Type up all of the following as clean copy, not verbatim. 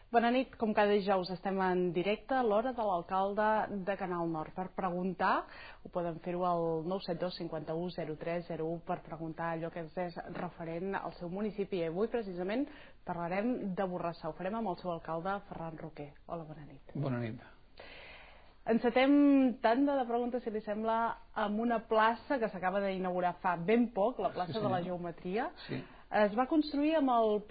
Bona nit, com cada dijous estem en directe a l'hora de l'alcalde de Canal Nord. Per preguntar, ho poden fer-ho al 972 51 03 01 per preguntar allò que és referent al seu municipi. I avui precisament parlarem de Borrassà. Ho farem amb el seu alcalde, Ferran Roquer. Hola, bona nit. Bona nit. Encetem tanda de preguntes, si li sembla, amb una plaça que s'acaba d'inaugurar fa ben poc, la plaça de la Geometria. Sí. Es va construir amb el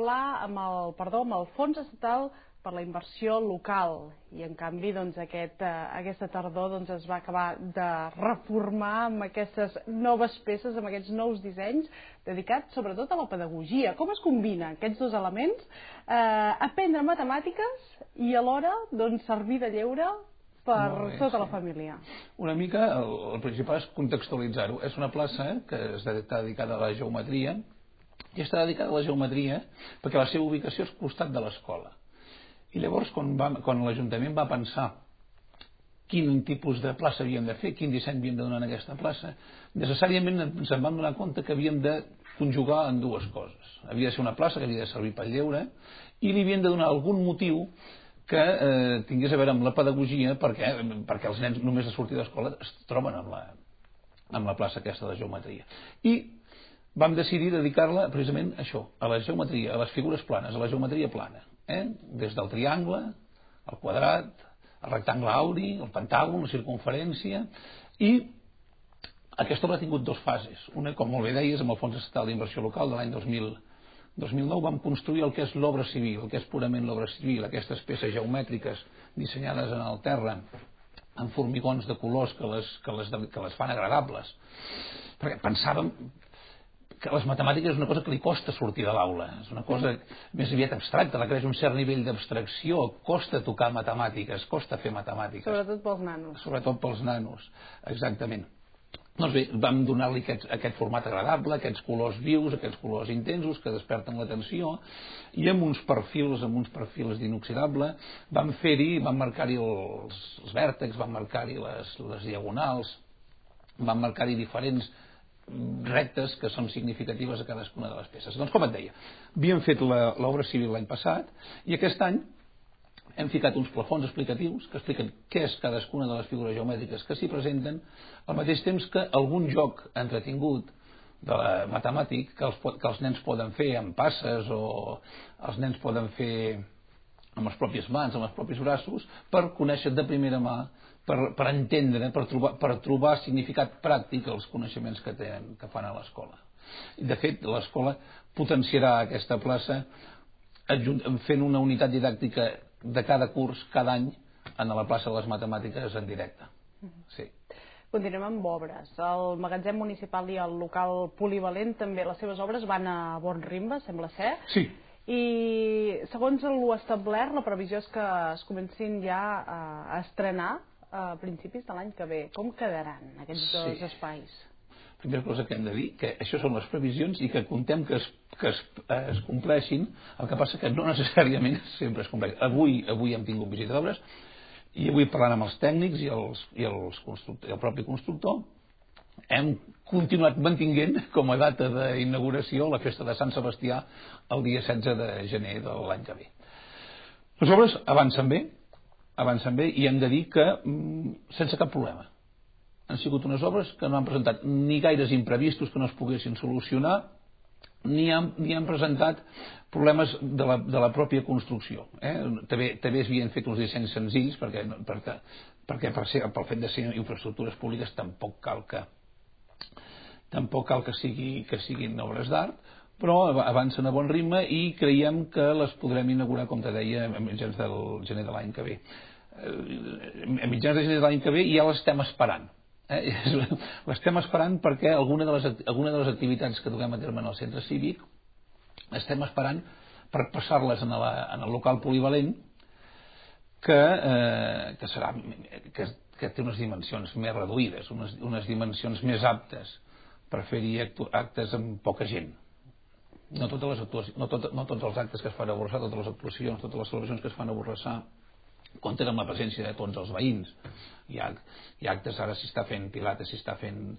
fons estatal per la inversió local i en canvi aquesta tardor es va acabar de reformar amb aquestes noves peces, amb aquests nous dissenys dedicats sobretot a la pedagogia. Com es combinen aquests dos elements? Aprendre matemàtiques i alhora servir de lleure per tota la família. Una mica, el principal és contextualitzar-ho. És una plaça que està dedicada a la geometria i està dedicada a la geometria perquè la seva ubicació és al costat de l'escola. I llavors, quan l'Ajuntament va pensar quin tipus de plaça havíem de fer, quin disseny havíem de donar en aquesta plaça, necessàriament ens en vam donar compte que havíem de conjugar en dues coses. Havia de ser una plaça que havia de servir pel lleure i li havíem de donar algun motiu que tingués a veure amb la pedagogia perquè els nens només a sortir d'escola es troben amb la plaça aquesta de geometria. I vam decidir dedicar-la precisament a això, a la geometria, a les figures planes, a la geometria plana. Des del triangle, el quadrat, el rectangle auri, el pentàgon, la circunferència, i aquesta obra ha tingut dues fases. Una, com molt bé deies, amb el Fons Estatal d'Inversió Local de l'any 2009 vam construir el que és l'obra civil, el que és purament l'obra civil, aquestes peces geomètriques dissenyades en el terra amb formigons de colors que les fan agradables. Perquè pensàvem que les matemàtiques és una cosa que li costa sortir de l'aula, és una cosa més aviat abstracta, requereix un cert nivell d'abstracció, costa tocar matemàtiques, costa fer matemàtiques. Sobretot pels nanos. Sobretot pels nanos, exactament. Doncs bé, vam donar-li aquest format agradable, aquests colors vius, aquests colors intensos que desperten l'atenció, i amb uns perfils d'inoxidable vam marcar-hi els vèrtexs, vam marcar-hi les diagonals, vam marcar-hi diferents rectes que són significatives a cadascuna de les peces. Doncs com et deia, havíem fet l'obra civil l'any passat i aquest any hem ficat uns plafons explicatius que expliquen què és cadascuna de les figures geomètriques que s'hi presenten, al mateix temps que algun joc entretingut matemàtic que els nens poden fer amb passes o els nens poden fer amb les pròpies mans, amb els propis braços, per conèixer de primera mà, per entendre, per trobar significat pràctic als coneixements que fan a l'escola. De fet, l'escola potenciarà aquesta plaça fent una unitat didàctica de cada curs, cada any, a la plaça de les matemàtiques en directe. Sí. Continuem amb obres. El magatzem municipal i el local polivalent també, les seves obres van a bon ritme, sembla ser. Sí. I segons l'establert, la previsió és que es comencin ja a estrenar a principis de l'any que ve. Com quedaran aquests dos espais? Primera cosa que hem de dir, que això són les previsions i que contem que es compleixin, el que passa que no necessàriament sempre es compleix. Avui hem tingut visita d'obres i avui parlant amb els tècnics i el propi constructor hem continuat mantinguent com a data d'inauguració la festa de Sant Sebastià el dia 16 de gener de l'any que ve. Les obres avancen bé i hem de dir que sense cap problema. Han sigut unes obres que no han presentat ni gaires imprevistos que no es poguessin solucionar ni han presentat problemes de la pròpia construcció. També s'havien fet uns dissenys senzills perquè pel fet de ser infraestructures públiques tampoc cal que siguin obres d'art, però avancen a bon ritme i creiem que les podrem inaugurar, com te deia, a mitjans del gener de l'any que ve. A mitjans de gener de l'any que ve ja l'estem esperant. L'estem esperant perquè alguna de les activitats que duguem a terme en el centre cívic estem esperant per passar-les en el local polivalent que té unes dimensions més reduïdes, unes dimensions més aptes per fer-hi actes amb poca gent. No tots els actes que es fan a Borrassà, totes les actuacions, totes les celebracions que es fan a Borrassà compten amb la presència de tots els veïns. Hi ha actes, ara s'hi està fent pilates, s'hi està fent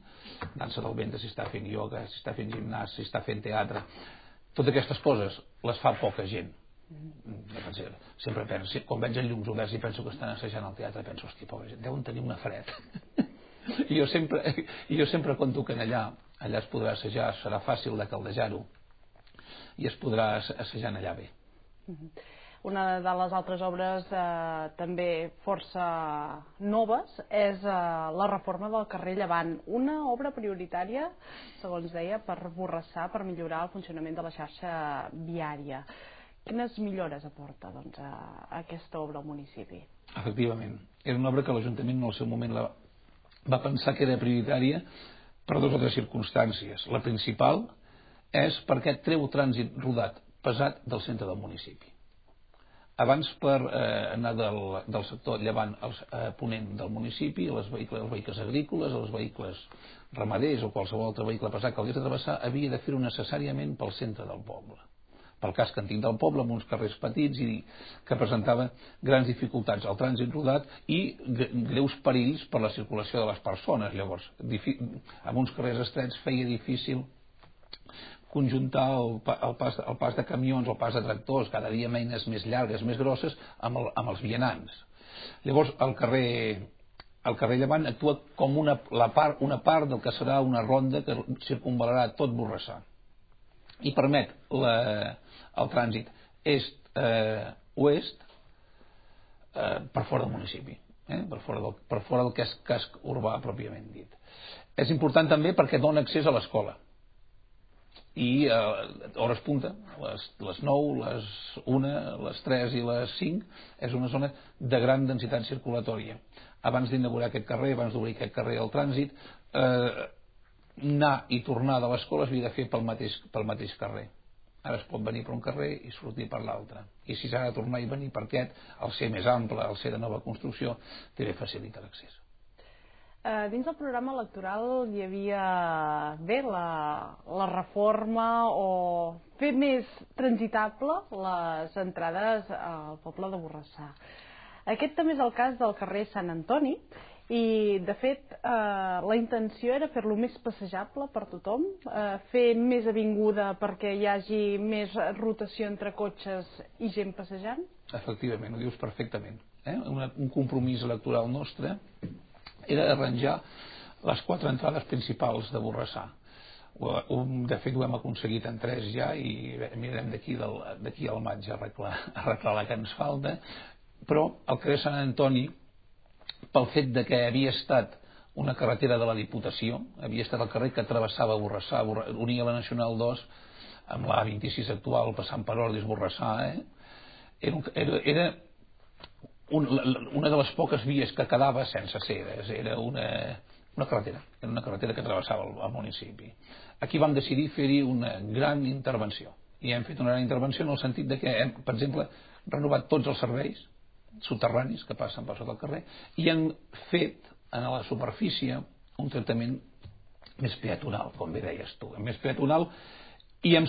dansa del ventre, s'hi està fent ioga, s'hi està fent gimnàs, s'hi està fent teatre. Totes aquestes coses les fa poca gent. Sempre penso, quan veig els llums oberts i penso que estan assajant al teatre, penso, hòstia, pobra gent, deuen tenir una fred. I jo sempre conto que allà es podrà assajar, serà fàcil de caldejar-ho i es podrà assajar allà bé. Una de les altres obres també força noves és la reforma del carrer Llevant, una obra prioritària, segons deia, per Borrassà, per millorar el funcionament de la xarxa viària. Quines millores aporta aquesta obra al municipi? Efectivament, era una obra que l'Ajuntament en el seu moment va pensar que era prioritària per dues o tres circumstàncies. La principal és perquè treu trànsit rodat pesat del centre del municipi. Abans, per anar del sector llevant al ponent del municipi, els vehicles agrícoles, els vehicles ramaders o qualsevol altre vehicle pesat que hagués de travessar, havia de fer-ho necessàriament pel centre del poble, pel casc antic del poble, amb uns carrers petits i que presentava grans dificultats al trànsit rodat i greus perills per la circulació de les persones. Llavors, amb uns carrers estrets feia difícil conjuntar el pas de camions, el pas de tractors, cada dia amb eines més llargues, més grosses, amb els vianants. Llavors, el carrer Llevant actua com una part del que serà una ronda que circunvalarà tot Borrassà i permet el trànsit est-oest per fora del municipi, per fora del casc urbà pròpiament dit. És important també perquè dona accés a l'escola i hores punta, les 9, les 1, les 3 i les 5, és una zona de gran densitat circulatòria. Abans d'inaugurar aquest carrer, abans d'obrir aquest carrer al trànsit, anar i tornar de l'escola es havia de fer pel mateix carrer. Ara es pot venir per un carrer i sortir per l'altre. I si s'ha de tornar i venir per aquest, al ser més ample, al ser de nova construcció, també facilita l'accés. Dins del programa electoral hi havia la reforma o fer més transitable les entrades al poble de Borrassà. Aquest també és el cas del carrer Sant Antoni i, de fet, la intenció era fer-lo més passejable per tothom, fer més avinguda perquè hi hagi més rotació entre cotxes i gent passejant? Efectivament, ho dius perfectament. Un compromís electoral nostre era arranjar les 4 entrades principals de Borrassà. De fet, ho hem aconseguit en 3 ja i mirarem d'aquí al maig a arreglar la que ens falta, però el carrer Sant Antoni, pel fet de que havia estat una carretera de la Diputació, havia estat el carrer que travessava Borrassà, unia la Nacional 2 amb la A26 actual, passant per Ordis, Borrassà, era una de les poques vies que quedava sense ser, era una carretera que travessava el municipi. Aquí vam decidir fer-hi una gran intervenció i hem fet una gran intervenció en el sentit de que hem, per exemple, renovat tots els serveis soterranis que passen per sota el carrer i hem fet a la superfície un tractament més peatonal, com bé deies tu, més peatonal. I hem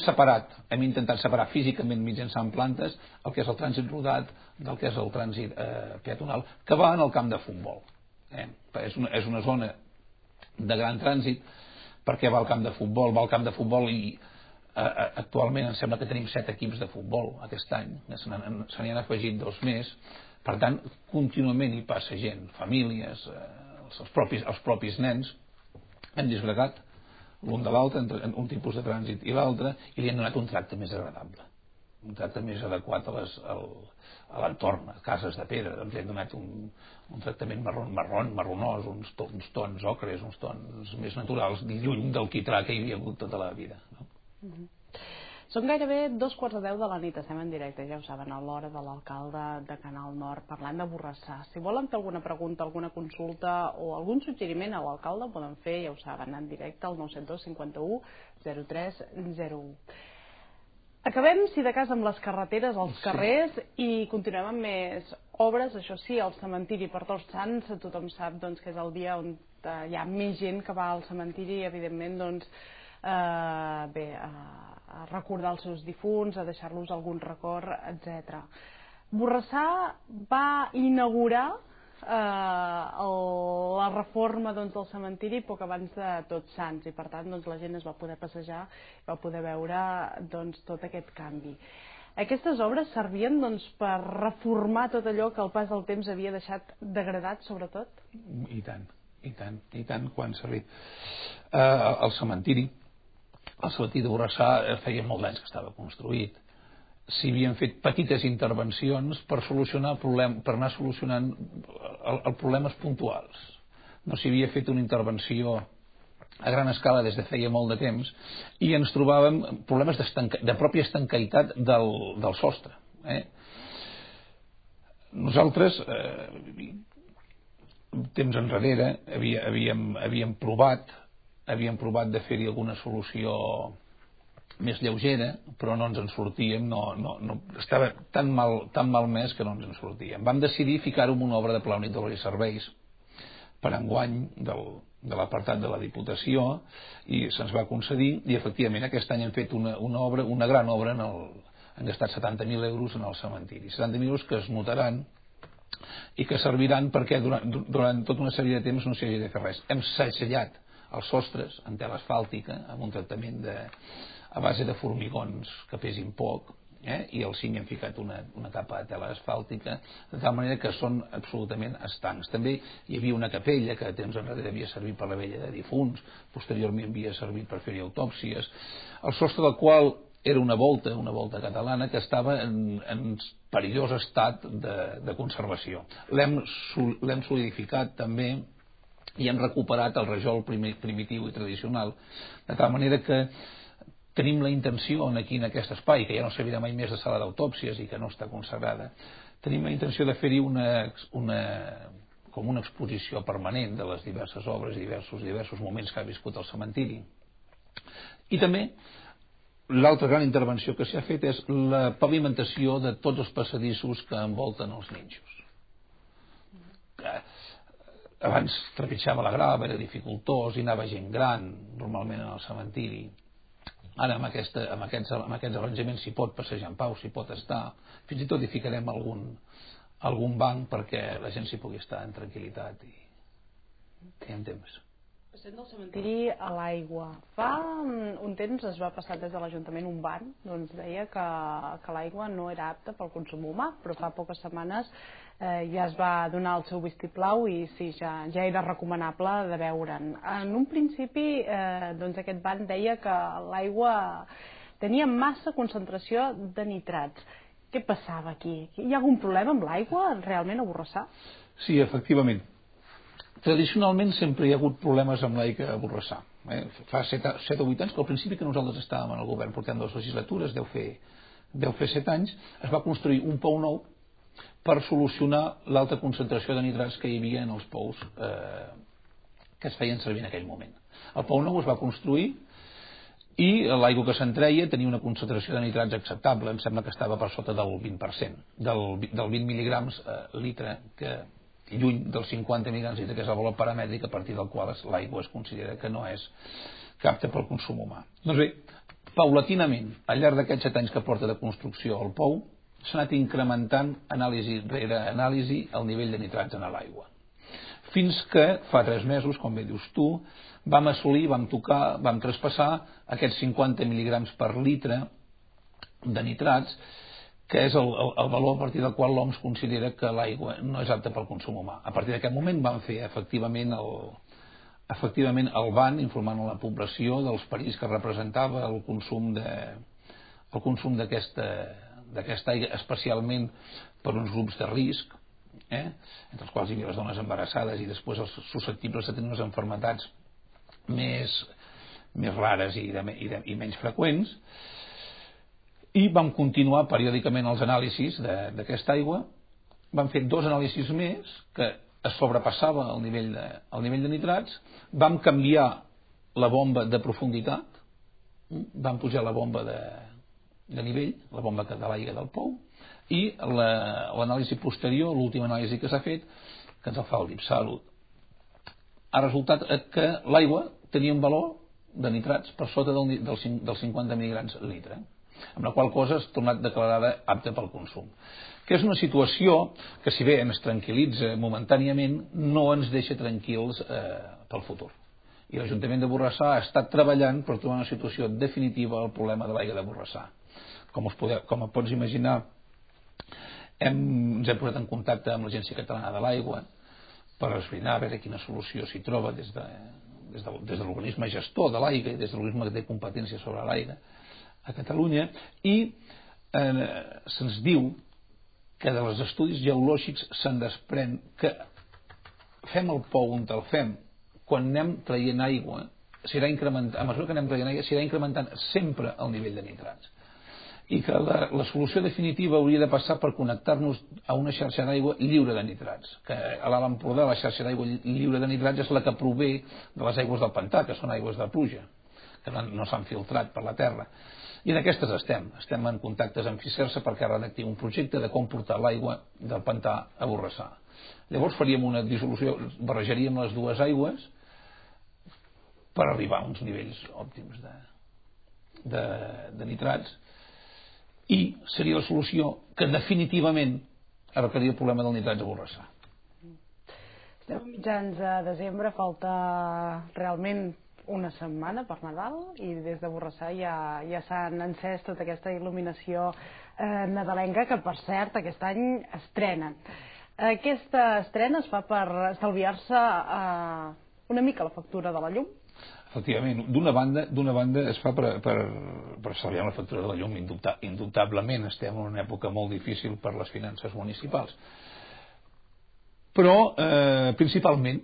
intentat separar físicament mitjançant plantes el que és el trànsit rodat del que és el trànsit peatonal, que va en el camp de futbol. És una zona de gran trànsit perquè va al camp de futbol i actualment em sembla que tenim 7 equips de futbol aquest any, se n'hi han afegit 2 més, per tant contínuament hi passa gent, famílies, els propis nens. Hem disgregat l'un de l'altre, entre un tipus de trànsit i l'altre, i li han donat un tracte més agradable, un tracte més adequat a l'entorn, a cases de pedra. Doncs li han donat un tractament marronós, uns tons ocres, uns tons més naturals, lluny del quitrà que hi havia hagut tota la vida, no? Són gairebé 2:15 de la nit, estem en directe, ja ho saben, a l'hora de l'alcalde de Canal Nord, parlant de Borrassà. Si volen fer alguna pregunta, alguna consulta o algun suggeriment a l'alcalde, ho poden fer, ja ho saben, en directe al 972 51 03 01. Acabem, si de cas, amb les carreteres, els carrers, i continuem amb més obres. Això sí, el cementiri per Tots Sants, tothom sap que és el dia on hi ha més gent que va al cementiri i, evidentment, a recordar els seus difunts, a deixar-los algun record, etc. Borrassà va inaugurar la reforma del cementiri poc abans de Tots Sants i, per tant, la gent es va poder passejar, va poder veure tot aquest canvi. Aquestes obres servien per reformar tot allò que el pas del temps havia deixat degradat, sobretot? I tant, quan ha servit. El cementiri de Borrassà feia molts anys que estava construït. S'hi havien fet petites intervencions per anar solucionant els problemes puntuals. No s'hi havia fet una intervenció a gran escala des de feia molt de temps i ens trobàvem problemes de pròpia estancaïtat del sostre. Nosaltres, temps enrere, havíem provat de fer-hi alguna solució més lleugera, però no ens en sortíem, estava tan malmès que no ens en sortíem. Vam decidir ficar-ho en una obra de pla únic d'obres i serveis per enguany de l'apartat de la Diputació i se'ns va concedir i efectivament aquest any hem fet una gran obra, hem gastat 70.000 euros en el cementiri, 70.000 euros que es notaran i que serviran perquè durant tota una sèrie de temps no s'hi hagi de fer res. Hem segellat els sostres en tela asfàltica amb un tractament a base de formigons que pesin poc i al cim hi hem ficat una capa de tela asfàltica de tal manera que són absolutament estancs. També hi havia una capella que a temps enrere havia servit per la vella de difunts, posteriorment havia servit per fer-hi autòpsies, el sostre del qual era una volta catalana que estava en perillós estat de conservació. L'hem solidificat també i hem recuperat el rajol primitiu i tradicional, de tal manera que tenim la intenció aquí en aquest espai, que ja no servirà mai més de sala d'autòpsies i que no està consagrada, tenim la intenció de fer-hi com una exposició permanent de les diverses obres i diversos moments que ha viscut el cementiri. I també l'altra gran intervenció que s'ha fet és la pavimentació de tots els passadissos que envolten els nínxols. Abans trepitjava la grava, era dificultós i anava gent gran normalment en el cementiri. Ara amb aquests arranjaments s'hi pot passejar en pau, s'hi pot estar, fins i tot hi ficarem algun banc perquè la gent s'hi pugui estar en tranquil·litat i en temps. Passem del cementiri a l'aigua. Fa un temps es va passar des de l'Ajuntament un ban, doncs deia que l'aigua no era apta pel consum humà, però fa poques setmanes ja es va donar el seu vistiplau i sí, ja era recomanable de beure'n. En un principi doncs aquest ban deia que l'aigua tenia massa concentració de nitrats. Què passava aquí? Hi ha algun problema amb l'aigua realment a Borrassà? Sí, efectivament. Tradicionalment sempre hi ha hagut problemes amb l'aigua a Borrassà. Fa 7 o 8 anys, que al principi que nosaltres estàvem en el govern portant 2 legislatures, deu fer 7 anys, es va construir un pou nou per solucionar l'alta concentració de nitrats que hi havia en els pous que es feien servir en aquell moment. El pou nou es va construir i l'aigua que se'n treia tenia una concentració de nitrats acceptable, em sembla que estava per sota del 20%, del 20 mil·lígrams litre, que lluny dels 50 mil·lígrams litre, que és el valor paramètric a partir del qual l'aigua es considera que no és apta pel consum humà. Doncs bé, paulatinament, al llarg d'aquests 7 anys que porta de construcció el pou, s'ha anat incrementant anàlisi rere anàlisi el nivell de nitrats en l'aigua. Fins que fa 3 mesos, com bé dius tu, vam assolir, vam traspassar aquests 50 mil·lígrams per litre de nitrats, que és el valor a partir del qual l'OMS considera que l'aigua no és apta pel consum humà. A partir d'aquest moment vam fer efectivament el ban informant a la població dels perills que representava el consum d'aquesta aigua, especialment per uns grups de risc, entre els quals hi havia les dones embarassades i després els susceptibles de tenir unes malalties més rares i menys freqüents. I vam continuar periòdicament els anàlisis d'aquesta aigua. Vam fer 2 anàlisis més que es sobrepassava el nivell de nitrats. Vam canviar la bomba de profunditat, vam pujar la bomba de nivell, la bomba de l'aigua del pou, i l'anàlisi posterior, l'última anàlisi que s'ha fet, que ens el fa el DIPSALUD, ha resultat que l'aigua tenia un valor de nitrats per sota dels 50 mil·lígrams litre, amb la qual cosa és tornat declarada apta pel consum. Que és una situació que, si bé ens tranquil·litza momentàniament, no ens deixa tranquils pel futur. I l'Ajuntament de Borrassà ha estat treballant per trobar una situació definitiva al problema de l'aigua de Borrassà. Com et pots imaginar, ens hem posat en contacte amb l'Agència Catalana de l'Aigua per esbrinar a veure quina solució s'hi troba des de l'organisme gestor de l'aigua i des de l'organisme que té competència sobre l'aigua a Catalunya, i se'ns diu que dels estudis geològics se'n desprèn que fem el pou on el fem, quan anem traient aigua s'irà incrementant, a mesura que anem traient aigua s'irà incrementant sempre el nivell de nitrats, i que la solució definitiva hauria de passar per connectar-nos a una xarxa d'aigua lliure de nitrats, que a l'Alt Empordà la xarxa d'aigua lliure de nitrats és la que prové de les aigües del pantà, que són aigües de pluja, que no s'han filtrat per la terra. I en aquestes estem en contactes amb Fisersa perquè redacti un projecte de com portar l'aigua del pantà a Borrassà. Llavors faríem una dissolució, barrejaríem les dues aigües per arribar a uns nivells òptims de nitrats, i seria la solució que definitivament arreglaria el problema del nitrats a Borrassà. Estem a mitjans de desembre, falta realment una setmana per Nadal, i des de Borrassà ja s'han encès tota aquesta il·luminació nadalenca, que per cert aquest any estrenen. Aquesta estrena es fa per estalviar-se una mica la factura de la llum? Efectivament, d'una banda es fa per estalviar la factura de la llum. Indubtablement estem en una època molt difícil per les finances municipals, però principalment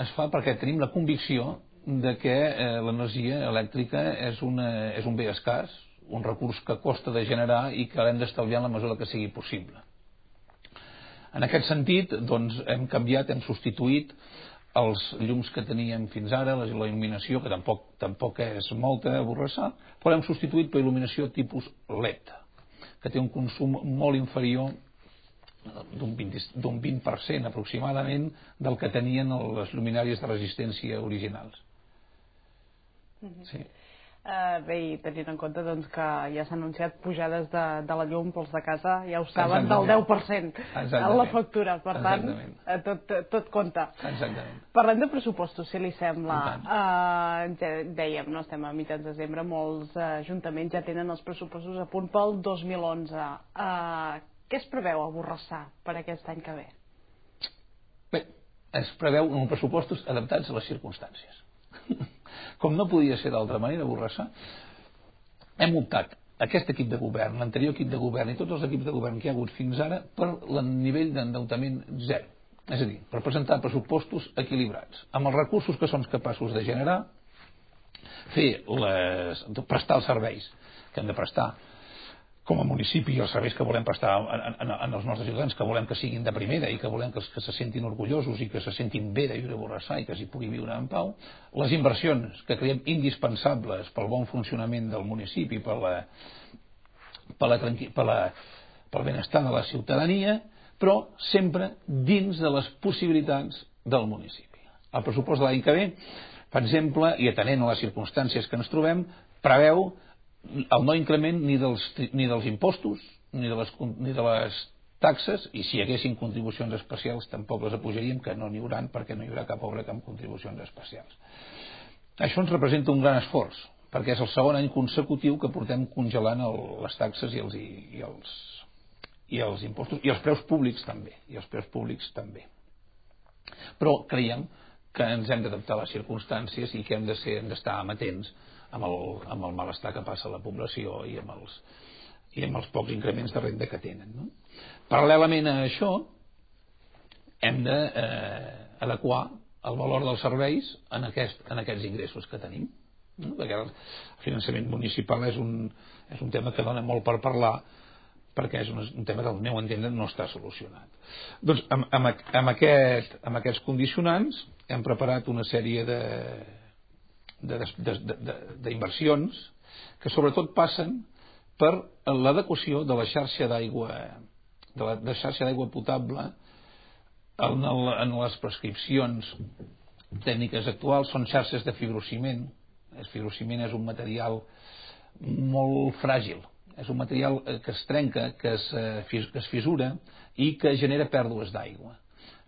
es fa perquè tenim la convicció de que l'energia elèctrica és un bé escàs, un recurs que costa de generar i que l'hem d'estalviar en la mesura que sigui possible. En aquest sentit, doncs, hem substituït els llums que teníem fins ara, la il·luminació, que tampoc és molta a Borrassà, però l'hem substituït per il·luminació tipus LED, que té un consum molt inferior d'un 20% aproximadament del que tenien les lluminàries de resistència originals. Sí. Bé, i tenint en compte doncs, que ja s'han anunciat pujades de la llum pels de casa, ja ho saben, del 10% a la factura, per tant tot compta. Exactament. Parlem de pressupostos, si li sembla. Dèiem, no estem a mitjans de desembre, molts ajuntaments ja tenen els pressupostos a punt pel 2011. Què es preveu a Borrassà per aquest any que ve? Bé, es preveu uns pressupostos adaptats a les circumstàncies. Com no podia ser d'altra manera, a Borrassà hem optat, aquest equip de govern, l'anterior equip de govern i tots els equips de govern que hi ha hagut fins ara, per el nivell d'endeutament zero. És a dir, per presentar pressupostos equilibrats, amb els recursos que som capaços de generar, prestar els serveis que hem de prestar com a municipi i els serveis que volem prestar en els nostres ciutadans, que volem que siguin de primera i que volem que se sentin orgullosos i que se sentin bé de viure a Borrassà i que s'hi pugui viure en pau, les inversions que creiem indispensables pel bon funcionament del municipi, pel benestar de la ciutadania, però sempre dins de les possibilitats del municipi. El pressupost de l'any que ve, per exemple, i atenent a les circumstàncies que ens trobem, preveu el no increment ni dels impostos ni de les taxes, i si hi haguessin contribucions especials tampoc les apujaríem, que no n'hi haurà perquè no hi haurà cap obra amb contribucions especials. Això ens representa un gran esforç, perquè és el segon any consecutiu que portem congelant les taxes i els impostos, i els preus públics també. Però creiem que ens hem d'adaptar a les circumstàncies i que hem d'estar amatents amb el malestar que passa a la població i amb els pocs increments de renda que tenen. No? Paral·lelament a això, hem d'adequar el valor dels serveis en aquests ingressos que tenim. No? Perquè el finançament municipal és un tema que dona molt per parlar, perquè és un tema que al meu entendre no està solucionat. Doncs amb aquests condicionants hem preparat una sèrie d'inversions que sobretot passen per l'adequació de la xarxa d'aigua potable en les prescripcions tècniques actuals. Són xarxes de fibrociment. El fibrociment és un material molt fràgil, és un material que es trenca, que es fissura i que genera pèrdues d'aigua.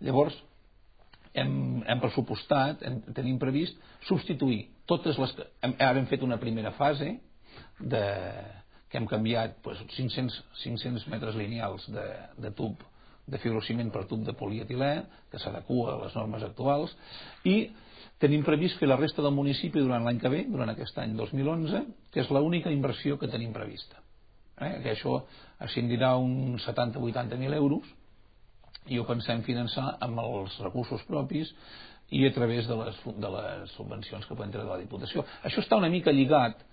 Llavors hem pressupostat, tenim previst substituir totes les que ara hem fet una primera fase que hem canviat 500 metres lineals de tub de fibrociment per tub de polietilè, que s'adequa a les normes actuals, i tenim previst fer la resta del municipi durant l'any que ve, durant aquest any 2011, que és l'única inversió que tenim prevista. Que això ascendirà uns 70-80.000 euros i ho pensem finançar amb els recursos propis i a través de les subvencions que podem treure de la Diputació. Això està una mica lligat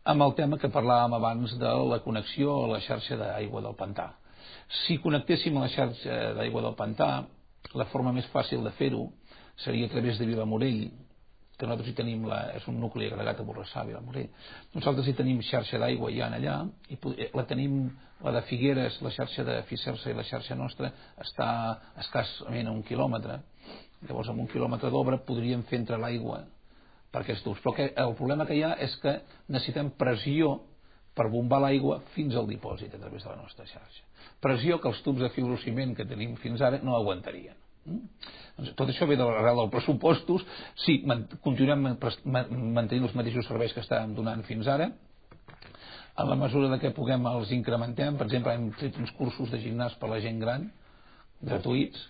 amb el tema que parlàvem abans de la connexió a la xarxa d'aigua del pantà. Si connectéssim a la xarxa d'aigua del pantà, la forma més fàcil de fer-ho seria a través de Vilamorell, que nosaltres hi tenim, és un nucli agregat a Borrassà, Vilamorell. Nosaltres hi tenim xarxa d'aigua ja allà, i la tenim, la de Figueres, la xarxa de Fisersa i la xarxa nostra està escassament a 1 quilòmetre. Llavors amb 1 quilòmetre d'obra podríem fer entrar l'aigua per aquests tubs. Però el problema que hi ha és que necessitem pressió per bombar l'aigua fins al dipòsit a través de la nostra xarxa. Pressió que els tubs de fibrociment que tenim fins ara no aguantarien. Doncs tot això ve de l'arrel dels pressupostos. Sí, continuem mantenint els mateixos serveis que estàvem donant fins ara. En la mesura que puguem els incrementem. Per exemple, hem fet uns cursos de gimnàs per a la gent gran, gratuïts,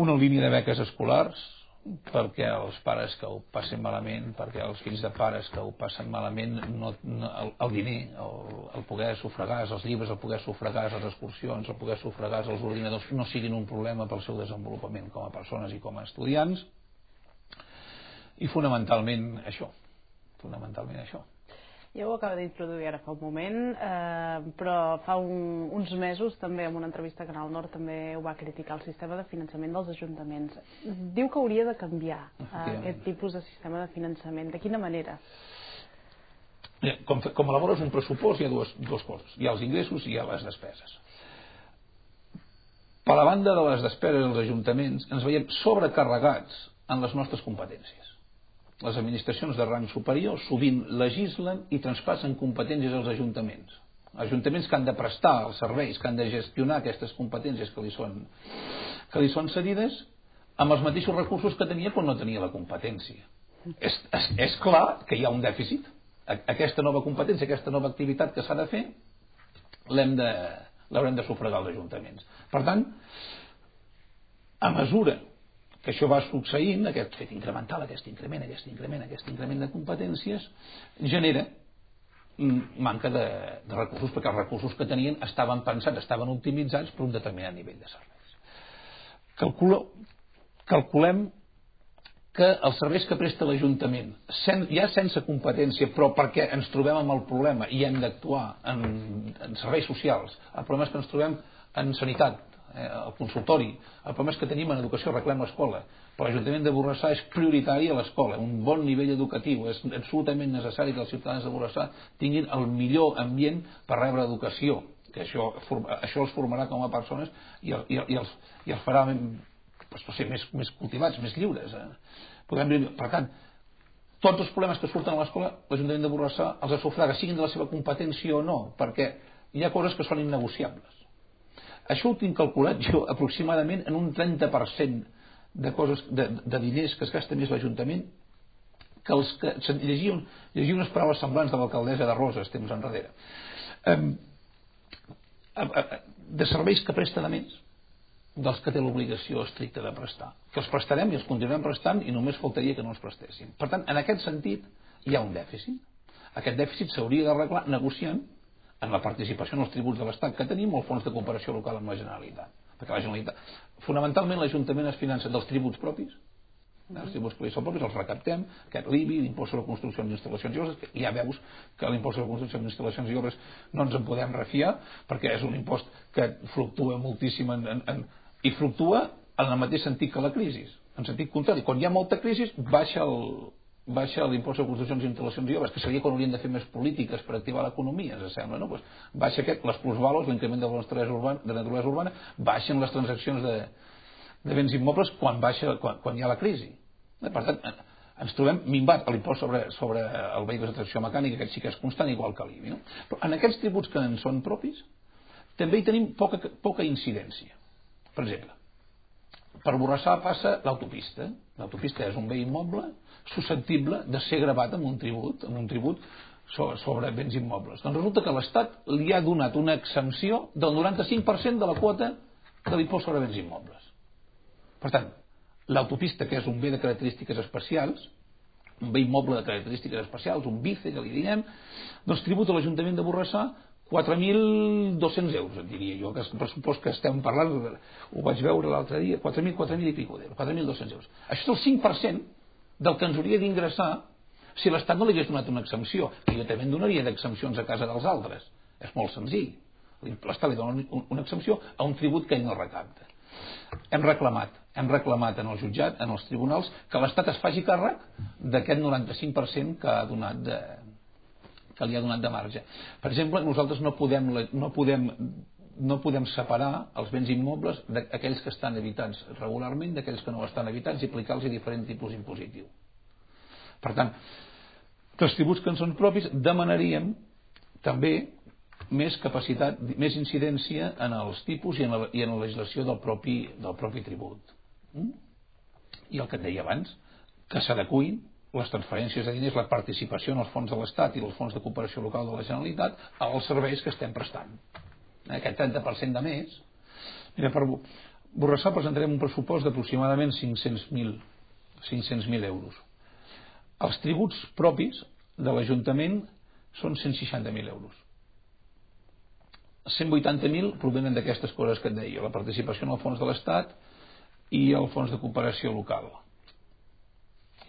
una línia de beques escolars perquè els pares que ho passen malament, perquè els fills de pares que ho passen malament, el diner, el poder sufragar els llibres, el poder sufragar les excursions, el poder sufragar els ordinadors no siguin un problema pel seu desenvolupament com a persones i com a estudiants. I fonamentalment això. Ja ho acaba d'introduir ara fa un moment, però fa uns mesos també en una entrevista a Canal Nord també ho va criticar, el sistema de finançament dels ajuntaments. Diu que hauria de canviar aquest tipus de sistema de finançament. De quina manera? Com elabores un pressupost hi ha dues coses. Hi ha els ingressos i hi ha les despeses. Per la banda de les despeses dels ajuntaments ens veiem sobrecarregats en les nostres competències. Les administracions de rang superior sovint legislen i traspassen competències als ajuntaments. Ajuntaments que han de prestar els serveis, que han de gestionar aquestes competències que li són cedides amb els mateixos recursos que tenia quan no tenia la competència. És clar que hi ha un dèficit. Aquesta nova competència, aquesta nova activitat que s'ha de fer, l'haurem de sufragar els ajuntaments. Per tant, a mesura que això va succeint, aquest fet incremental, aquest increment de competències, genera manca de recursos, perquè els recursos que tenien estaven pensats, estaven optimitzats per un determinat nivell de serveis. Calculem que els serveis que presta l'Ajuntament, ja sense competència, però perquè ens trobem amb el problema i hem d'actuar en serveis socials, el problema és que ens trobem en sanitat, el consultori, el problema és que tenim en educació, arreglem l'escola, però l'Ajuntament de Borrassà és prioritari a l'escola, un bon nivell educatiu, és absolutament necessari que els ciutadans de Borrassà tinguin el millor ambient per rebre educació, que això els formarà com a persones i els farà més cultivats, més lliures. Per tant, tots els problemes que surten a l'escola l'Ajuntament de Borrassà els sufraga, siguin de la seva competència o no, perquè hi ha coses que són innegociables. Això ho tinc calculat jo aproximadament en un 30% de diners que es gasta més l'Ajuntament que els que llegia unes paraules semblants de l'alcaldessa de Roses temps enrere, de serveis que presta de més dels que té l'obligació estricta de prestar, que els prestarem i els continuarem prestant i només faltaria que no els prestéssim. Per tant, en aquest sentit hi ha un dèficit. Aquest dèficit s'hauria d'arreglar negociant en la participació en els tributs de l'Estat que tenim o el fons de cooperació local amb la Generalitat. Perquè la Generalitat, fonamentalment l'Ajuntament es finança dels tributs propis, els tributs propis són propis, els recaptem, aquest l'IBI, l'impost sobre construccions d'instal·lacions i obres, ja veus que l'impost sobre construccions d'instal·lacions i obres no ens en podem refiar perquè és un impost que fluctua moltíssim i fluctua en el mateix sentit que la crisi, en sentit contrari. Quan hi ha molta crisi baixa l'impost sobre construccions d'instal·lacions i obres, que seria quan hauríem de fer més polítiques per activar l'economia, ens sembla, no? Pues baixa les plusvalos, l'increment de naturalesa urbana, baixen les transaccions de béns immobles quan hi ha la crisi. Per tant, ens trobem minvat a l'impost sobre el vehicle de tracció mecànica, que sí que és constant, igual que l'IBI. No? Però en aquests tributs que en són propis, també hi tenim poca incidència. Per exemple, per Borrassà passa l'autopista. L'autopista és un bé immoble susceptible de ser gravat amb un tribut sobre béns immobles. Doncs resulta que l'Estat li ha donat una exempció del 95% de la quota de l'impost sobre béns immobles. Per tant, l'autopista, que és un bé de característiques especials, un bé immoble de característiques especials, un BICE, que li diem, doncs tributa l'Ajuntament de Borrassà 4.200 euros, et diria jo, que és el pressupost que estem parlant, ho vaig veure l'altre dia, 4.000 i pico d'euros, 4.200 euros. Això és el 5% del que ens hauria d'ingressar si l'Estat no li hagués donat una exempció, que jo també en donaria d'exempcions a casa dels altres. És molt senzill. L'Estat li dona una exempció a un tribut que ell no recapta. Hem reclamat en el jutjat, en els tribunals, que l'Estat es faci càrrec d'aquest 95% que li ha donat de marge. Per exemple, nosaltres no podem separar els béns immobles d'aquells que estan habitats regularment d'aquells que no estan habitats i aplicar-los diferent tipus impositiu. Per tant, els tributs que en són propis demanaríem també més capacitat, més incidència en els tipus i en la legislació del propi tribut. I el que et deia abans, que s'adecuïn les transferències de diners, la participació en els fons de l'Estat i els fons de cooperació local de la Generalitat als serveis que estem prestant. Aquest 30% de més. Mira, per Borrassà presentarem un pressupost d'aproximadament 500.000 euros. Els tributs propis de l'Ajuntament són 160.000 euros. 180.000 provenen d'aquestes coses que et deia, la participació en el fons de l'Estat i el fons de cooperació local.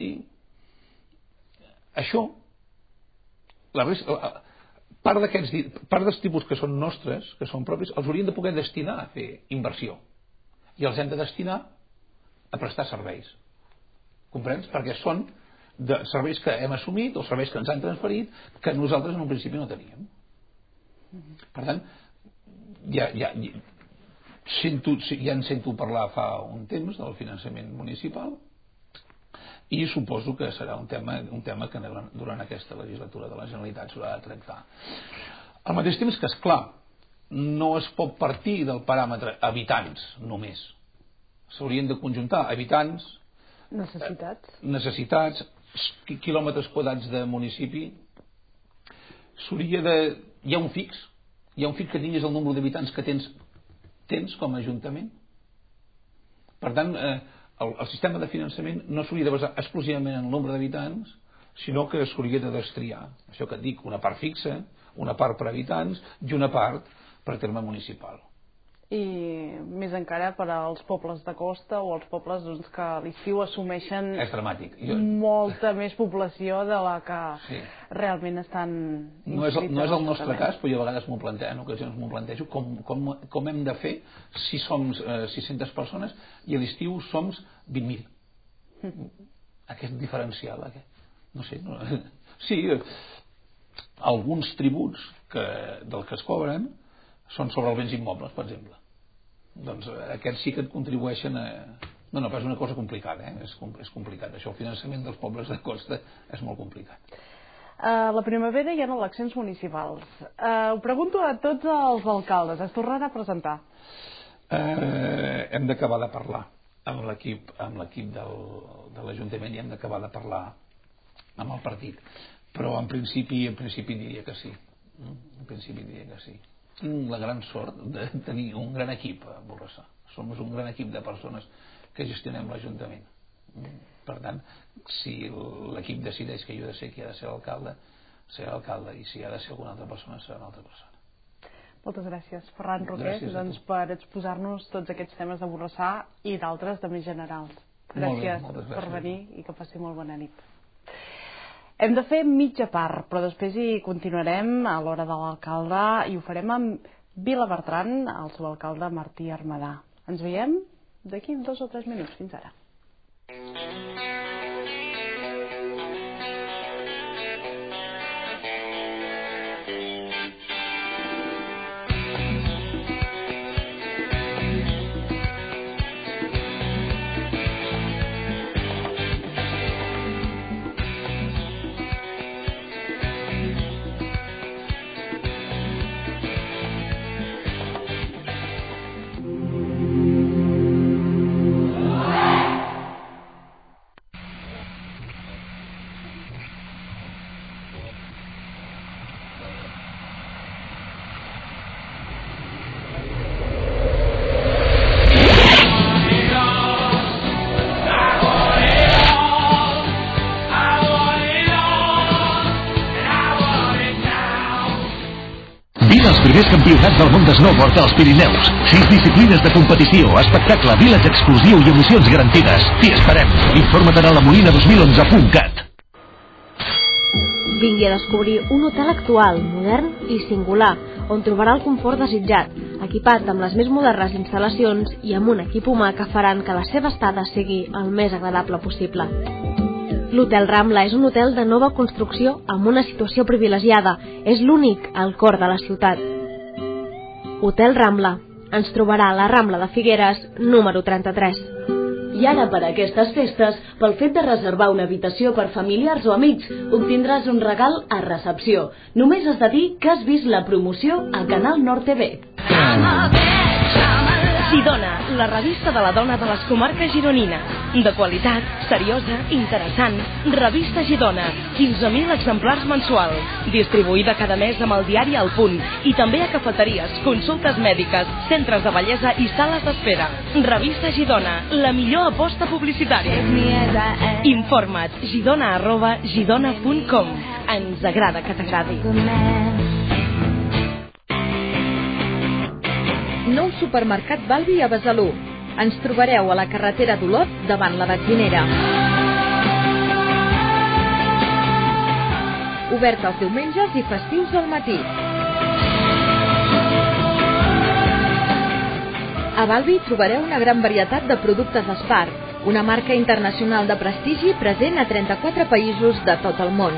I això, part dels tipus que són nostres, que són propis, els hauríem de poder destinar a fer inversió. I els hem de destinar a prestar serveis. Comprens? Perquè són de serveis que hem assumit o serveis que ens han transferit que nosaltres en un principi no teníem. Per tant, ja en sento parlar fa un temps del finançament municipal i suposo que serà un tema que durant aquesta legislatura de la Generalitat s'haurà de tractar. Al mateix temps que, esclar, no es pot partir del paràmetre habitants només. S'haurien de conjuntar habitants, necessitats, quilòmetres quadrats de municipi. Hi ha un fix que tinguis el nombre d'habitants que tens com a ajuntament. Per tant, el sistema de finançament no s'hauria de basar exclusivament en el nombre d'habitants, sinó que s'hauria de destriar. Això que et dic, una part fixa, una part per habitants i una part per terme municipal. I més encara per als pobles de costa o els pobles que a l'estiu assumeixen molta més població de la que realment estan inscrits. No és el nostre cas, però jo a vegades en ocasions m'ho plantejo com hem de fer si som 600 persones i a l'estiu som 20.000. Aquest diferencial, no sé. Sí, alguns tributs del que es cobren són sobre els béns immobles, per exemple. Doncs aquests sí que et contribueixen a... No, però és una cosa complicada, és complicat. Això, el finançament dels pobles de costa és molt complicat. La primavera hi ha eleccions municipals. Ho pregunto a tots els alcaldes. Es tornarà a presentar? Hem d'acabar de parlar amb l'equip de l'Ajuntament i hem d'acabar de parlar amb el partit. Però en principi diria que sí. En principi diria que sí. Tinc la gran sort de tenir un gran equip a Borrassà. Som un gran equip de persones que gestionem l'Ajuntament. Per tant, si l'equip decideix que jo he de ser qui ha de ser l'alcalde, serà l'alcalde, i si ha de ser alguna altra persona, serà una altra persona. Moltes gràcies, Ferran Roquer, per exposar-nos tots aquests temes de Borrassà i d'altres de més generals. Gràcies per venir i que passi molt bona nit. Hem de fer mitja part, però després hi continuarem a l'hora de l'alcalde i ho farem amb Vilabertran, el seu alcalde Martí Armadà. Ens veiem d'aquí 2 o 3 minuts. Fins ara. primers campionats del món de snowboard als Pirineus. 6 disciplines de competició, espectacle, village exclusiu i emocions garantides. T'hi esperem. Informa't a lamolina2011.cat. Vingui a descobrir un hotel actual, modern i singular, on trobarà el confort desitjat, equipat amb les més modernes instal·lacions i amb un equip humà que faran que la seva estada sigui el més agradable possible. L'Hotel Rambla és un hotel de nova construcció amb una situació privilegiada. És l'únic al cor de la ciutat. Hotel Rambla. Ens trobarà a la Rambla de Figueres, número 33. I ara, per aquestes festes, pel fet de reservar una habitació per familiars o amics, obtindràs un regal a recepció. Només has de dir que has vist la promoció a Canal Nord TV. Xidona, la revista de la dona de les comarques gironines. De qualitat, seriosa, interessant. Revista Xidona, 15.000 exemplars mensuals. Distribuïda cada mes amb el diari El Punt. I també a cafeteries, consultes mèdiques, centres de bellesa i sales d'espera. Revista Xidona, la millor aposta publicitària. Informa't, xidona@xidona.com. Ens agrada que t'agradi. Nou supermercat Balbi a Besalú. Ens trobareu a la carretera d'Olot davant la benzinera. Obert els diumenges i festius al matí. A Balbi trobareu una gran varietat de productes Spar, una marca internacional de prestigi present a 34 països de tot el món.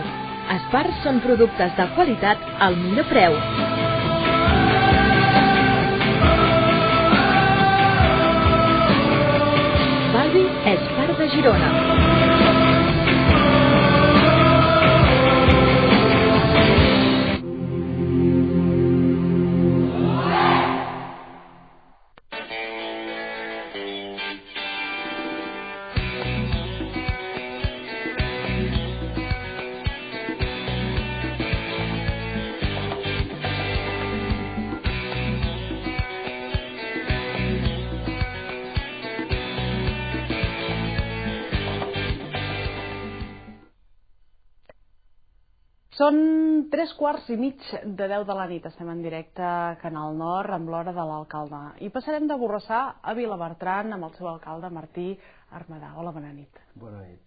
Spar són productes de qualitat al millor preu. Balbi és part de Girona. Són 3:15 de 10 de la nit. Estem en directe a Canal Nord amb l'hora de l'alcalde. I passarem de Borrassà a Vilabertran amb el seu alcalde Martí Armadà. Hola, bona nit. Bona nit.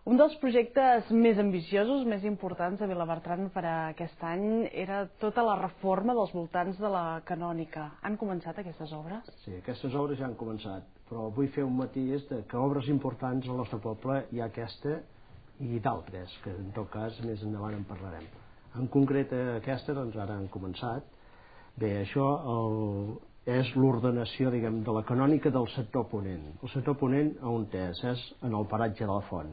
Un dels projectes més ambiciosos, més importants de Vilabertran per a aquest any era tota la reforma dels voltants de la Canònica. Han començat aquestes obres? Sí, aquestes obres ja han començat, però vull fer un matís que obres importants al nostre poble hi ha aquesta i d'altres, que en tot cas més endavant en parlarem. En concret aquesta, doncs ara han començat. Bé, això és l'ordenació, diguem, de la canònica del sector ponent. El sector ponent on és en el paratge de la Font.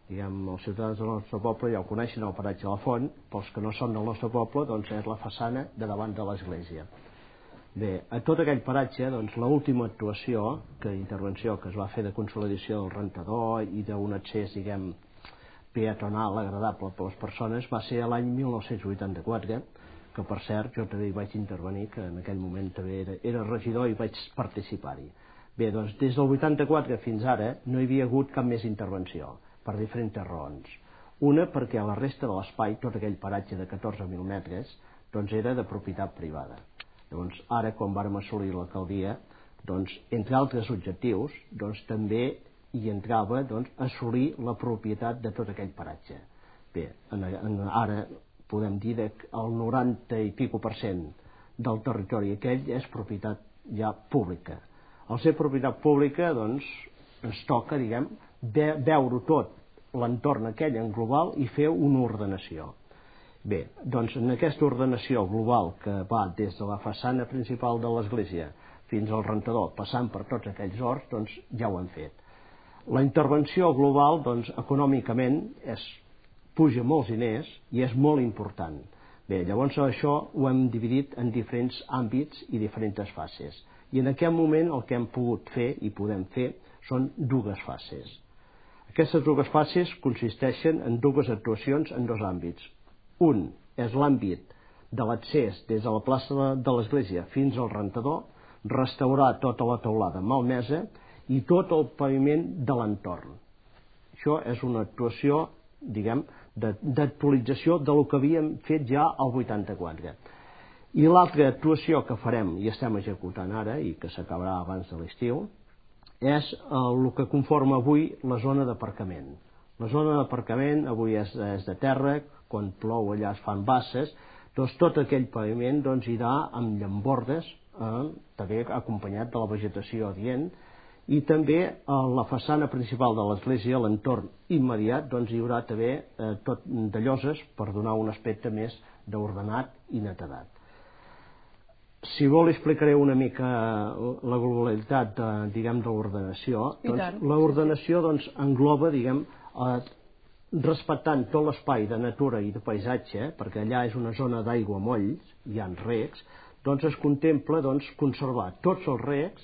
Diguem, els ciutadans del nostre poble ja ho coneixen, el paratge de la Font, pels que no són del nostre poble, doncs és la façana de davant de l'església. Bé, a tot aquell paratge, doncs l'última actuació, intervenció que es va fer de consolidació del rentador i d'un accés, diguem, peatonal agradable per les persones va ser l'any 1984, que per cert jo també hi vaig intervenir, que en aquell moment també era regidor i vaig participar-hi. Bé, doncs des del 84 fins ara no hi havia hagut cap més intervenció, per diferents raons. Una, perquè a la resta de l'espai, tot aquell paratge de 14.000 metres, doncs era de propietat privada. Llavors ara, quan vàrem assolir l'alcaldia, doncs entre altres objectius, doncs també hi entrava assolir la propietat de tot aquell paratge. Bé, ara podem dir que el 90 i pico % del territori aquell és propietat ja pública. Al ser propietat pública, doncs, ens toca, diguem, veure tot l'entorn aquell en global i fer una ordenació. Bé, doncs en aquesta ordenació global que va des de la façana principal de l'església fins al rentador, passant per tots aquells horts, doncs ja ho hem fet. La intervenció global, doncs, econòmicament puja molts diners i és molt important. Bé, llavors això ho hem dividit en diferents àmbits i diferents fases. I en aquest moment el que hem pogut fer i podem fer són dues fases. Aquestes dues fases consisteixen en dues actuacions en dos àmbits. Un és l'àmbit de l'accés des de la plaça de l'església fins al rentador, restaurar tota la teulada malmesa i tot el paviment de l'entorn. Això és una actuació, diguem, d'actualització del que havíem fet ja al 84. I l'altra actuació que farem i estem executant ara i que s'acabarà abans de l'estiu és el que conforma avui la zona d'aparcament. La zona d'aparcament avui és de terra, quan plou allà es fan basses, doncs tot aquell paviment irà amb llambordes, també acompanyat de la vegetació adient, i també a la façana principal de l'església, a l'entorn immediat, hi haurà també tot de lloses per donar un aspecte més d'ordenat i netedat. Si vol explicaré una mica la globalitat de l'ordenació. L'ordenació engloba, respectant tot l'espai de natura i de paisatge, perquè allà és una zona d'aigua molls, hi ha recs, es contempla conservar tots els recs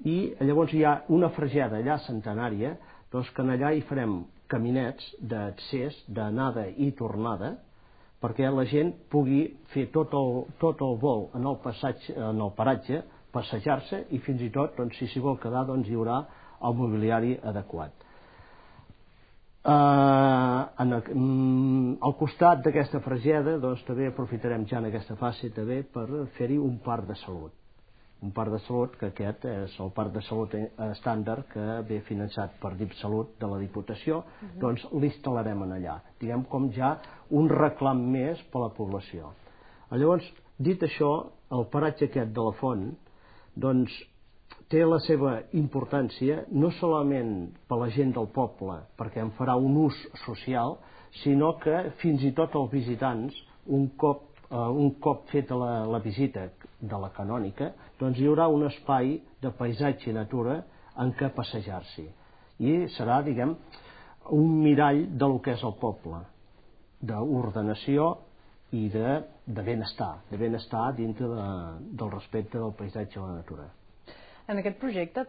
i llavors hi ha una fregeda allà centenària, que allà hi farem caminets d'accés, d'anada i tornada, perquè la gent pugui fer tot el vol en el paratge, passejar-se i fins i tot, si s'hi vol quedar, hi haurà el mobiliari adequat. Al costat d'aquesta fregeda també aprofitarem ja en aquesta fase també per fer-hi un parc de salut. Un parc de salut que aquest és el parc de salut estàndard que ve finançat per DipSalut de la Diputació, l'instal·larem allà, diguem com ja un reclam més per a la població. Llavors, dit això, el paratge aquest de la font té la seva importància no solament per a la gent del poble, perquè en farà un ús social, sinó que fins i tot els visitants, un cop feta la visita de la canònica, hi haurà un espai de paisatge i natura en què passejar-s'hi. I serà, un mirall del que és el poble, d'ordenació i de benestar dintre del respecte del paisatge i la natura. En aquest projecte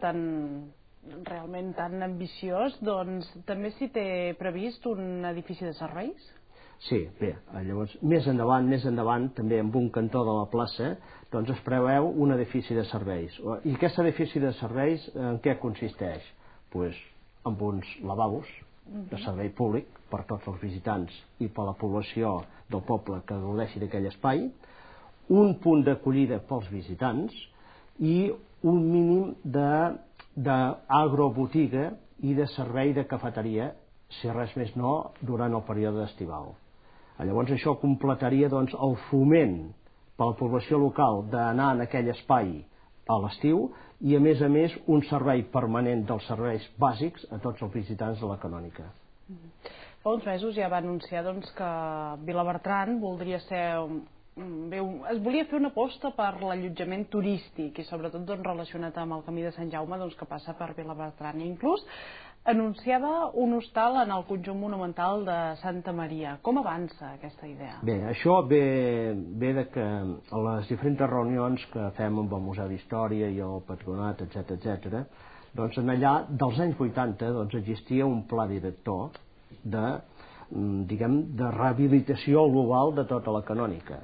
realment tan ambiciós, també s'hi té previst un edifici de serveis? Sí, bé, llavors més endavant, també en un cantó de la plaça, es preveu un edifici de serveis. I aquest edifici de serveis en què consisteix? Doncs en uns lavabos de servei públic per tots els visitants i per la població del poble que gaudeixi d'aquell espai, un punt d'acollida pels visitants i un mínim d'agrobotiga i de servei de cafeteria, si res més no, durant el període estival. Llavors això completaria el foment per a la població local d'anar en aquell espai a l'estiu i a més un servei permanent dels serveis bàsics a tots els visitants de la canònica. Fa uns mesos ja va anunciar que Vilabertran voldria ser... es volia fer una aposta per l'allotjament turístic i sobretot relacionat amb el Camí de Sant Jaume que passa per Vilabertran i inclús anunciava un hostal en el conjunt monumental de Santa Maria. Com avança aquesta idea? Bé, això ve de que a les diferents reunions que fem amb el Museu d'Història i el Patronat, etc., en allà dels anys 80 existia un pla director de rehabilitació global de tota la canònica.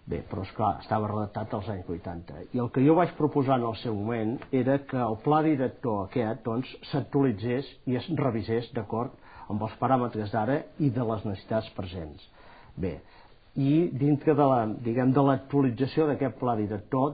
Bé, però esclar, estava redactat als anys 80. I el que jo vaig proposar en el seu moment era que el pla director aquest s'actualitzés i es revisés d'acord amb els paràmetres d'ara i de les necessitats presents. Bé, i dintre de l'actualització d'aquest pla director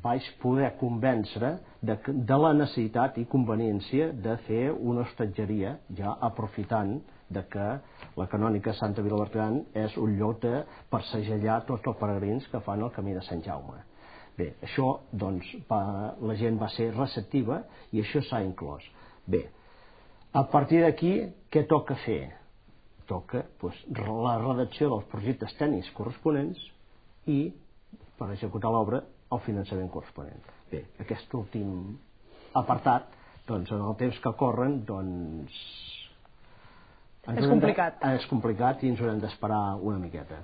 vaig poder convèncer de la necessitat i conveniència de fer una hostatgeria ja aprofitant que la canònica Santa Vilabertran és un lloc de passejar tots els peregrins que fan el Camí de Sant Jaume. Bé, això la gent va ser receptiva i això s'ha inclòs. Bé, a partir d'aquí què toca fer? Toca la redacció dels projectes tècnics corresponents i, per executar l'obra, el finançament corresponent. Bé, aquest últim apartat, en el temps que corren, és complicat. És complicat i ens haurem d'esperar una miqueta.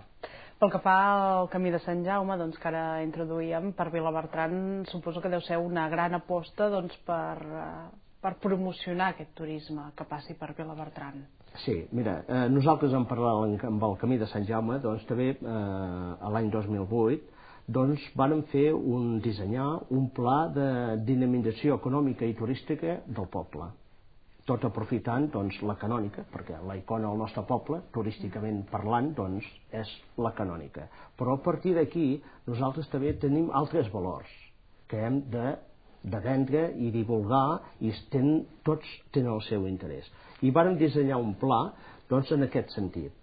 Pel que fa al Camí de Sant Jaume, que ara introduïem, per Vilabertran suposo que deu ser una gran aposta per promocionar aquest turisme que passi per Vilabertran. Sí, mira, nosaltres en parlant amb el Camí de Sant Jaume, també l'any 2008 vàrem dissenyar un pla de dinamització econòmica i turística del poble. tot aprofitant la canònica, perquè la icona del nostre poble, turísticament parlant, és la canònica. Però a partir d'aquí nosaltres també tenim altres valors que hem de vendre i divulgar, i tots tenen el seu interès. I vàrem dissenyar un pla en aquest sentit.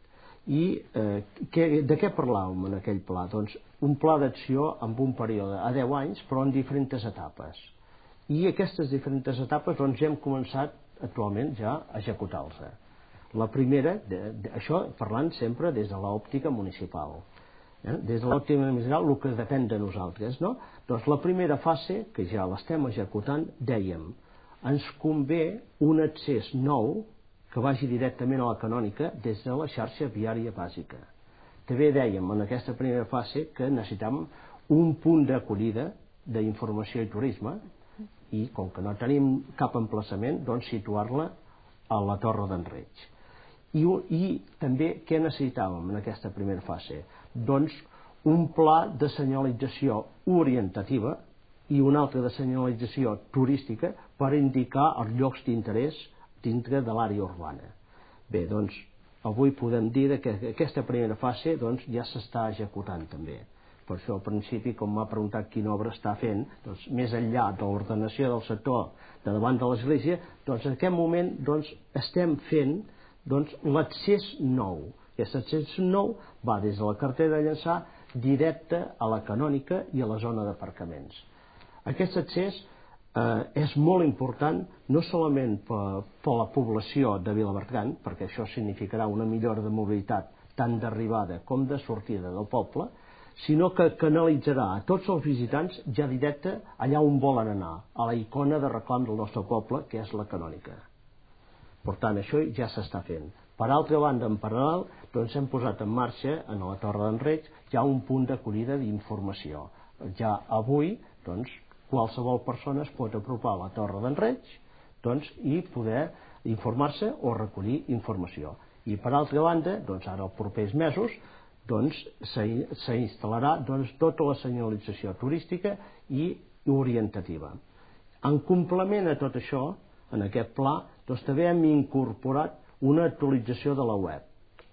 I de què parlàvem en aquell pla? Un pla d'acció amb un període a 10 anys, però en diferents etapes. I aquestes diferents etapes hem començat actualment ja a executar-los. La primera, això parlant sempre des de l'òptica municipal. Des de l'òptica municipal, el que depèn de nosaltres. Doncs la primera fase, que ja l'estem executant, dèiem, ens convé un accés nou que vagi directament a la canònica des de la xarxa viària bàsica. També dèiem en aquesta primera fase que necessitàvem un punt d'acollida d'informació i turisme, i com que no tenim cap emplaçament, situar-la a la Torre d'en Reig. I també què necessitàvem en aquesta primera fase? Doncs un pla de senyalització orientativa i un altre de senyalització turística per indicar els llocs d'interès dintre de l'àrea urbana. Bé, doncs avui podem dir que aquesta primera fase ja s'està executant també. Per això al principi, com m'ha preguntat quina obra està fent, més enllà de l'ordenació del sector de davant de l'església, en aquest moment estem fent l'accés nou. Aquest accés nou va des de la carretera de Llançà directe a la canònica i a la zona d'aparcaments. Aquest accés és molt important no solament per la població de Vilabertran, perquè això significarà una millora de mobilitat tant d'arribada com de sortida del poble, sinó que canalitzarà a tots els visitants ja directe allà on volen anar, a la icona de reclam del nostre poble, que és la canònica. Per tant, això ja s'està fent. Per altra banda, en paral·lel, hem posat en marxa, en la Torre d'en Reig, ja un punt d'acollida d'informació. Ja avui, qualsevol persona es pot apropar a la Torre d'en Reig i poder informar-se o recollir informació. I per altra banda, ara els propers mesos, s'instal·larà tota la senyalització turística i orientativa. En complement a tot això, en aquest pla, també hem incorporat una actualització de la web.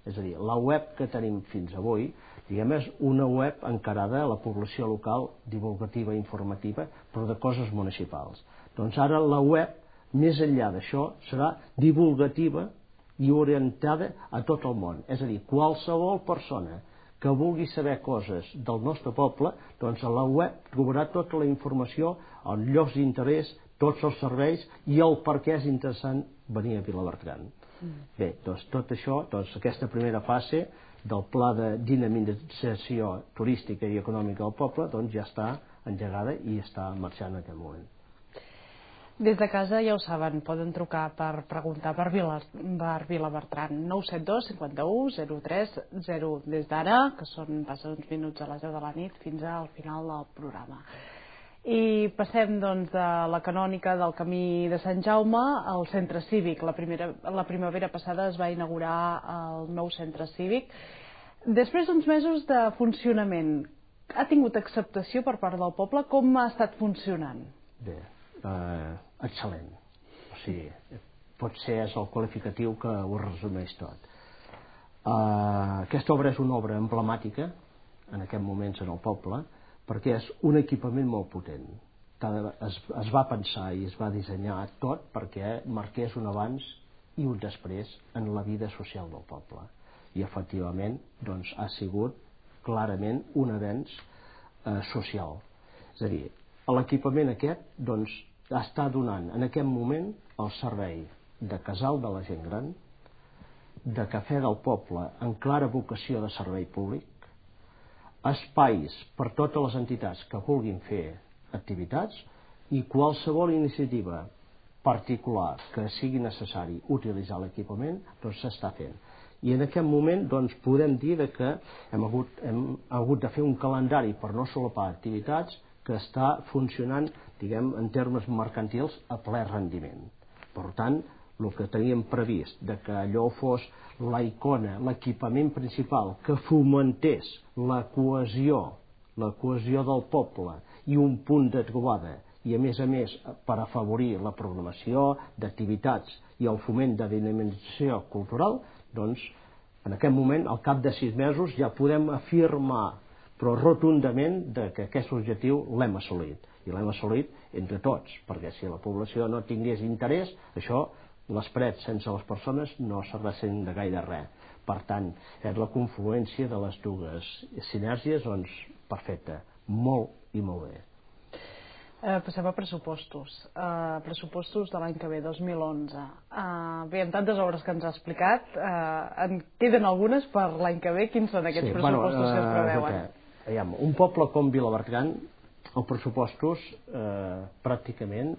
És a dir, la web que tenim fins avui, és una web encarada a la població local, divulgativa i informativa, però de coses municipals. Doncs ara la web, més enllà d'això, serà divulgativa i orientada a tot el món. És a dir, qualsevol persona que vulgui saber coses del nostre poble, a la web trobarà tota la informació, els llocs d'interès, tots els serveis i el per què és interessant venir a Vilabertran. Bé, tot això, aquesta primera fase del pla de dinamització turística i econòmica del poble ja està engegada i està marxant en aquest moment. Des de casa ja ho saben, poden trucar per preguntar per Vilabertran 972 51 03 0 des d'ara, que passen uns minuts a les 10 de la nit fins al final del programa. I passem de la canònica del camí de Sant Jaume al centre cívic. La primavera passada es va inaugurar el nou centre cívic. Després d'uns mesos de funcionament, ha tingut acceptació per part del poble? Com ha estat funcionant? Bé, excel·lent. O sigui, potser és el qualificatiu que ho resumeix tot. Aquesta obra és una obra emblemàtica en aquest moment en el poble, perquè és un equipament molt potent. Es va pensar i es va dissenyar tot perquè marqués un abans i un després en la vida social del poble. I efectivament ha sigut clarament un avenç social. És a dir, l'equipament aquest està donant en aquest moment el servei de casal de la gent gran, de cafè del poble en clara vocació de servei públic, espais per totes les entitats que vulguin fer activitats i qualsevol iniciativa particular que sigui necessari utilitzar l'equipament s'està fent. I en aquest moment podem dir que hem hagut de fer un calendari per no solapar activitats que està funcionant, en termes mercantils, a ple rendiment. Per tant, el que teníem previst de que allò fos la icona, l'equipament principal que fomentés la cohesió del poble i un punt de trobada i a més per afavorir la programació d'activitats i el foment de dinamització cultural, doncs en aquest moment, al cap de 6 mesos, ja podem afirmar però rotundament que aquest objectiu l'hem assolit, i l'hem assolit entre tots, perquè si la població no tingués interès, això, les parets sense les persones no serveixen de gaire res. Per tant, és la confluència de les dues sinergies, doncs, perfecta, molt i molt bé. Passem a pressupostos. Pressupostos de l'any que ve, 2011. Bé, amb tantes obres que ens ha explicat, en queden algunes per l'any que ve. Quins són aquests pressupostos que es preveuen? Un poble com Vilabertran, els pressupostos pràcticament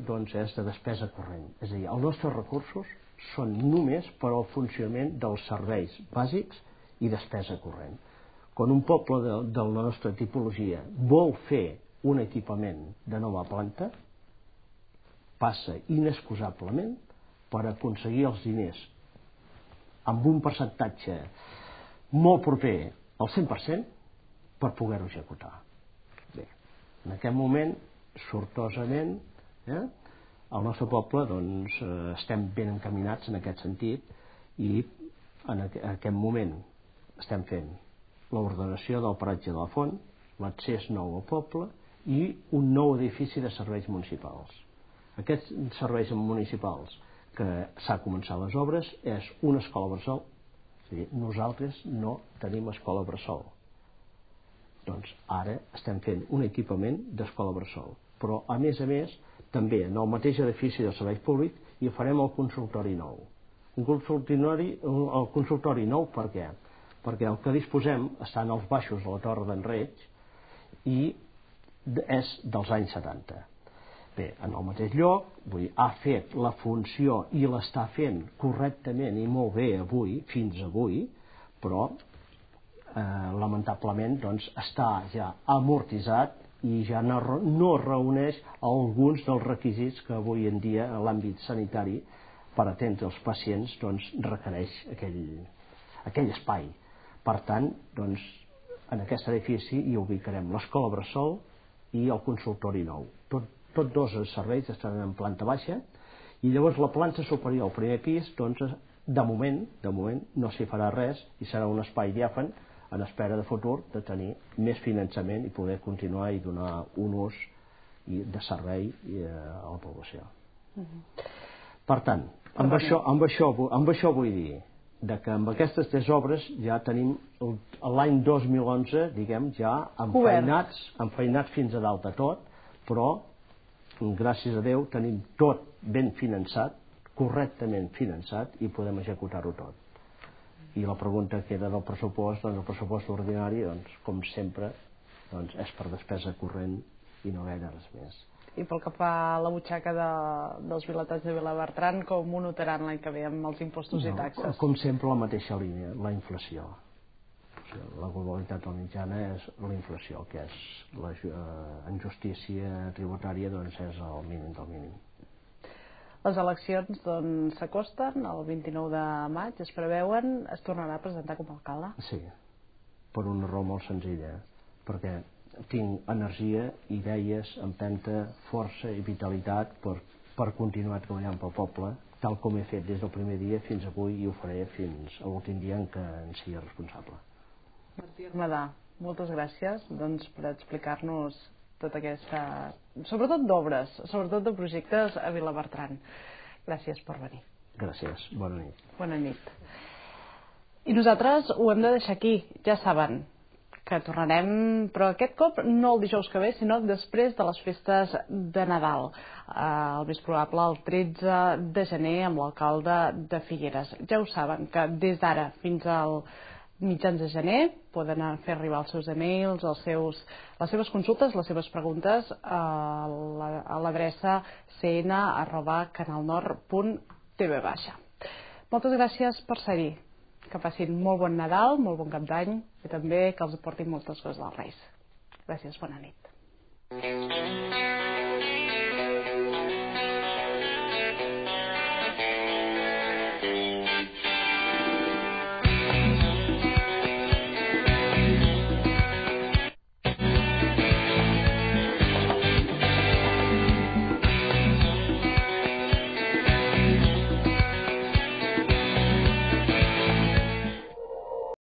és de despesa corrent. És a dir, els nostres recursos són només per al funcionament dels serveis bàsics i despesa corrent. Quan un poble de la nostra tipologia vol fer un equipament de nova planta, passa inexcusablement per aconseguir els diners amb un percentatge molt proper al 100% per poder-ho executar. Bé, en aquest moment, sortosament, al nostre poble estem ben encaminats en aquest sentit i en aquest moment estem fent l'ordenació del paratge de la Font, l'accés nou al poble i un nou edifici de serveis municipals. Aquests serveis municipals que s'ha començat les obres és una escola bressol. És a dir, nosaltres no tenim escola bressol. Doncs ara estem fent un equipament d'escola bressol. Però a més, també en el mateix edifici de serveis públics hi farem el consultori nou. El consultori nou per què? Perquè el que disposem està en els baixos de la Torre d'en Reig i és dels anys 70. Bé, en el mateix lloc, ha fet la funció i l'està fent correctament i molt bé fins avui, però lamentablement està ja amortitzat i ja no reuneix alguns dels requisits que avui en dia a l'àmbit sanitari per atendre els pacients requereix aquell espai. Per tant, en aquest edifici hi ubicarem l'escola bressol i el consultori nou. Tots dos serveis estaran en planta baixa i llavors la planta superior, el primer pis, de moment no s'hi farà res i serà un espai diàfan en espera de futur de tenir més finançament i poder continuar i donar un ús de servei a la població. Per tant, amb això vull dir que amb aquestes 3 obres ja tenim l'any 2011, diguem, ja enfeinats fins a dalt de tot, però gràcies a Déu tenim tot ben finançat, correctament finançat i podem executar-ho tot. I la pregunta queda del pressupost, el pressupost ordinari, com sempre, és per despesa corrent i no gaire res més. I pel que fa a la butxaca dels vilatans de Vilabertran, com ho notaran l'any que ve amb els impostos i taxes? Com sempre, la mateixa línia, la inflació. La globalitat de la mitjana és la inflació, que és en justícia tributària és el mínim del mínim. Les eleccions s'acosten, el 29 de maig es preveuen, es tornarà a presentar com a alcalde? Sí, per una raó molt senzilla, perquè tinc energia, idees, empenta, força i vitalitat per continuar treballant pel poble, tal com he fet des del primer dia fins avui i ho faré fins a l'últim dia en què en sigui responsable. Martí Armadà, moltes gràcies per explicar-nos tota aquesta, sobretot d'obres, sobretot de projectes a Vilabertran. Gràcies per venir. Gràcies, bona nit. Bona nit. I nosaltres ho hem de deixar aquí, ja saben que tornarem, però aquest cop no el dijous que ve, sinó després de les festes de Nadal. El més probable el 13 de gener amb l'alcalde de Figueres. Ja ho saben, que des d'ara fins al mitjans de gener poden fer arribar els seus e-mails, les seves consultes, les seves preguntes a l'adreça cn@canalnord.tv. Moltes gràcies per ser-hi. Que passin molt bon Nadal, molt bon Cap d'Any i també que els aportin moltes coses dels Reis. Gràcies, bona nit.